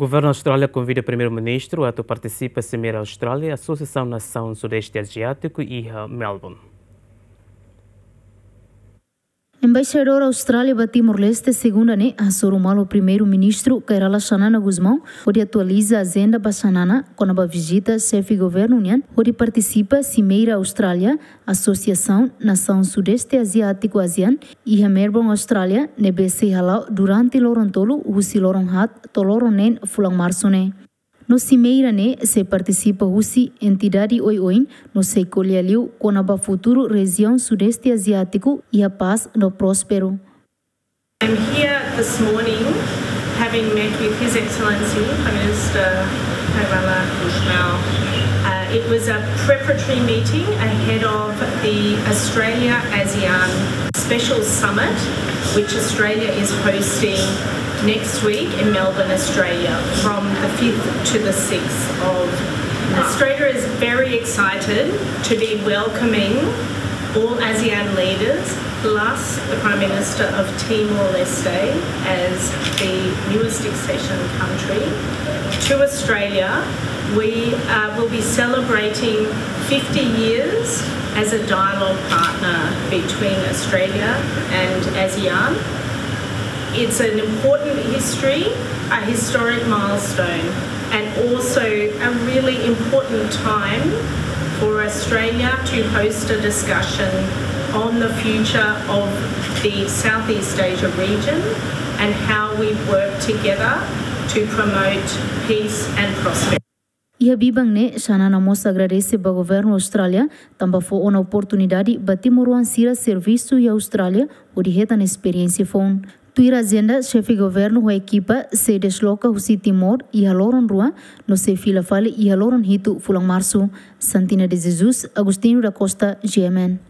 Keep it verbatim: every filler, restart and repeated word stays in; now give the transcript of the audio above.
Governu Austrália konvida Primeiru-Ministru atu partisipa Simeira Austrália, Asosiasaun Nasaun Sudeste Aziátiku, iha Melbourne. Embaixadór Austrália ba Timor-Leste, segunda ne'e, hasoru malu Primeiru-Ministru Kay Rala Xanana Gusmão, hodi atualiza ajenda ba Xanana, kona-ba vizita xefe governu nian, hodi partisipa Simeira Austrália, Asosiasaun Nasaun Sudeste Aziátiku, ASEAN, iha Melbourne, Austrália, ne'ebé sei hala'o durante loron tolu, husi loron haat to'o loron neen fulan Marsu ne'e. No simeira ne'e sei partisipa husi entidade oioin, no sei ko'alia liu kona-ba futuru rejiaun Sudeste Aziátiku iha pás no prósperu. I'm here this morning, having met with His Excellency Prime Minister Kay Rala Gusmão. Uh, it was a preparatory meeting ahead of the Australia ASEAN Special Summit, which Australia is hosting next week in Melbourne, Australia, from the fifth to the sixth of March. Australia is very excited to be welcoming all ASEAN leaders, plus the Prime Minister of Timor-Leste as the newest accession country to Australia. We, uh, will be celebrating fifty years as a dialogue partner between Australia and ASEAN. It's an important history, a historic milestone, and also a really important time for Australia to host a discussion on the future of the Southeast Asia region and how we work together to promote peace and prosperity. Iha biban ne'e, Xanana mós agradese ba governu Austrália, tanba fó ona oportunidade ba timoroan sira servisu iha Austrália, hodi hetan esperiénsia foun. Tuir ajenda, xefe governu ho ekipa sei desloka husi Timor iha loron rua, no sei fila fali iha loron hitu fulan Marsu. Santina de Jesus, Agostinho da Costa, G M N.